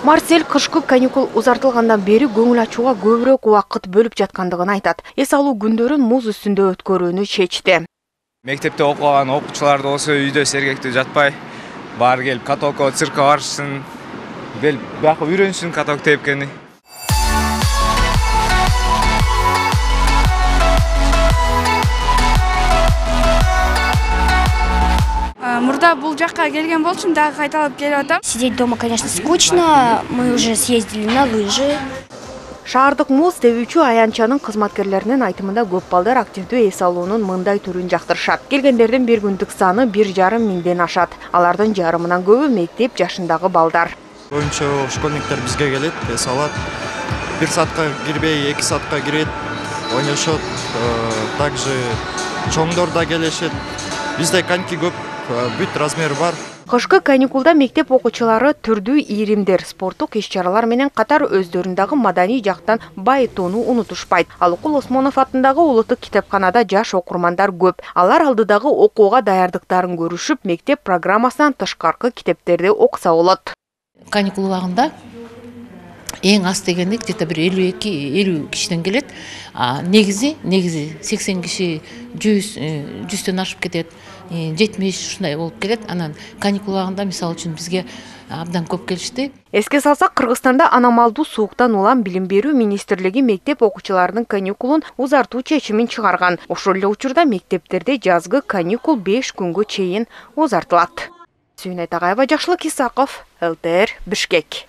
Марсель кышкы каникул узартылгандан бери көңүл ачууга көбүрөөк убакыт бөлүп жаткандыгын айтат. Эс алуу күндөрүн муз үстүндө өткөрүүнү чечти. Мектепте окуган окуучулар да болсо үйдө сергектүү жатпай, баары келип катокко, циркке барышсын, бияка үйрөнсүн каток тепкени. Мурда бул жакка келген болчумун, дагы кайталап келип атам. Сидеть дома, конечно, скучно. Мы уже съездили на лыжи. Шаардык муз тебүүчү аянтчанын кызматкерлеринин айтымында көп балдар активдүү эс алуунун мындай түрүн жактырышат. Келгендердин бир күндүк саны 1,5 миңден ашат. Алардын жарымынан көбү мектеп жашындагы балдар. Көбүнчө школьниктер бизге келет, эс алат. 1 саатка кирбей, 2 саатка кирет, ойношот. Также чоңдор да келишет. Бизде коньки көп, бүт размери бар. Кышкы каникулда мектеп окуучулары түрдүү ийримдер, спорттук иш-чаралар менен катар өздөрүндөгү маданий жактан байытууну унутушпайт. Ал Укул Осмонов атындагы улуттук китепканада жаш окурмандар көп. Алар алдыдагы окууга даярдыктарын көрүшүп, мектеп программасынан тышкаркы китептерди окуса болот. Каникул убагында эң аз дегенде где-то бир 52-50 кишиден келет. Негизи 80 киши 100төн ашып кетет. 70 ушундай болуп келет. Анан каникул убагында мисалы үчүн бизге абдан көп келишти. Эске салсак, Кыргызстанда аномалдуу сууктан улам Билим берүү министрлиги мектеп окуучуларынын каникулун узартуу чечимин чыгарган. Ошол эле учурда мектептерде жазгы каникул 5 күнгө чейин узартылат. Сүйүнай Тагайова, Жакшылык Исаков, ЛТР, Бишкек.